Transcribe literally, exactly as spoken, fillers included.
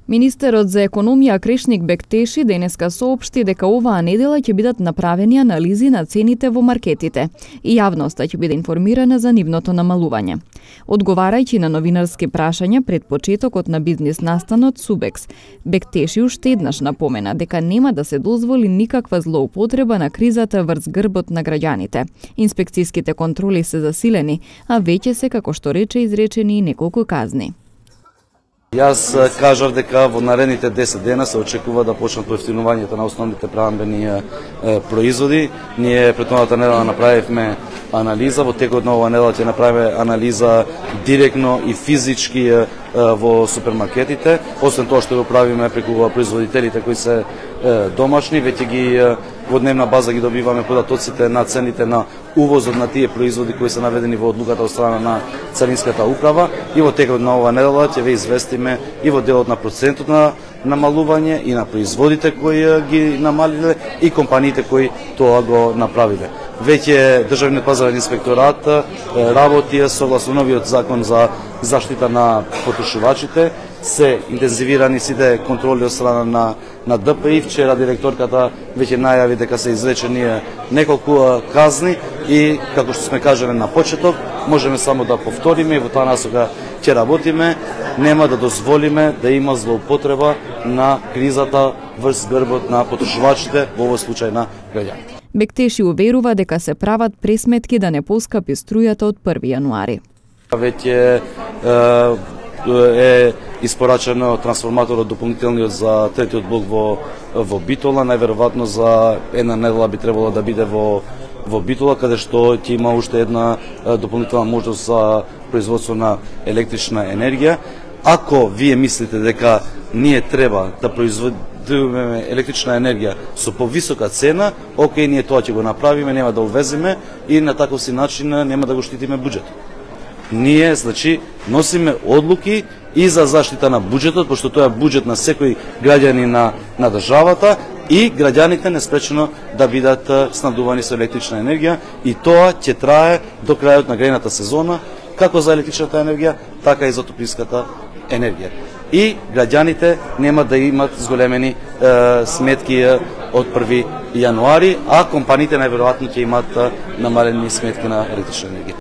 Министерот за економија Кришник Бектеши денеска соопшти дека оваа недела ќе бидат направени анализи на цените во маркетите и јавноста ќе биде информирана за нивното намалување. Одговарајќи на новинарски прашања пред почетокот на бизнис настанот Субекс, Бектеши уште еднаш напомена дека нема да се дозволи никаква злоупотреба на кризата врз грбот на граѓаните. Инспекцијските контроли се засилени, а веќе се, како што рече, изречени и неколку казни. Јас кажав дека во наредните десет дена се очекува да почнат поевтинувањето на основните прехранбени производи. Ние претходната недела направивме анализа, во текот на оваа недела ќе направиме анализа директно и физички во супермаркетите. Освен тоа што го правиме преку производителите кои се домашни, веќе ги во дневна база ги добиваме податоците на цените на увозот на тие производи кои се наведени во одлуката од страна на Царинската управа, и во текот на оваа недела ќе ве известиме и во делот на процентот на намалување и на производите кои ги намалиле и компаниите кои тоа го направиле. Веќе Државниот пазарен инспекторат работи согласно новиот закон за заштита на потрошувачите. Се интензивирани сите контроли од страна на на Д П И. Вчера директорката веќе најави дека се изречени неколку казни и, како што сме кажале на почеток, можеме само да повториме и во таа насока ќе работиме. Нема да дозволиме да има злоупотреба на кризата врз грбот на потрошувачите, во овој случај на граѓаните. Бектеши уверува дека се прават пресметки да не поскапи струјата од први јануари. Веќе е испорачено трансформаторот дополнителниот за третиот блок во во Битола, најверојатно за една недела би требало да биде во во Битола, каде што ќе има уште една дополнителна можност за производство на електрична енергија. Ако вие мислите дека ние треба да произведуваме електрична енергија со повисока цена, окей, ние тоа ќе го направиме, нема да увеземе и на таков си начин нема да го штитиме буџетот. Ние, значи, носиме одлуки и за заштита на буџетот, пошто тоа е буџет на секој граѓанин на, на државата, и граѓаните неспречено да бидат снабдувани со електрична енергија, и тоа ќе трае до крајот на грејната сезона, како за електричната енергија, така и за топлинската енергија. И граѓаните нема да имат зголемени е, сметки од први јануари, а компаниите најверојатно ќе имат намалени сметки на електрична енергија.